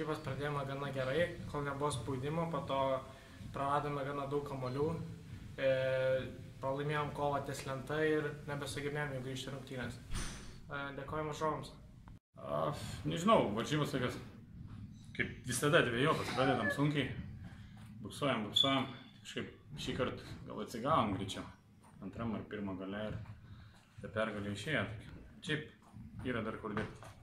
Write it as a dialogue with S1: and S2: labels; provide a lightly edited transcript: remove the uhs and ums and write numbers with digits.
S1: varžybas pradėjome gana gerai, kol nebuvo spaudimo, po to praradome gana daug kamuolių, pralaimėjom kovą ties lenta ir nebesugebėjom jų grįžti rungtynės. Dėkojame varžovams.
S2: Nežinau, varžybos tokios, kaip visada dvejopas, pradedam sunkiai, buksuojam, kažkaip šį kartą gal atsigavom greičiau, antram ar pirmą gale ir ta pergalė išėjo. Šiaip yra dar kur dirbti.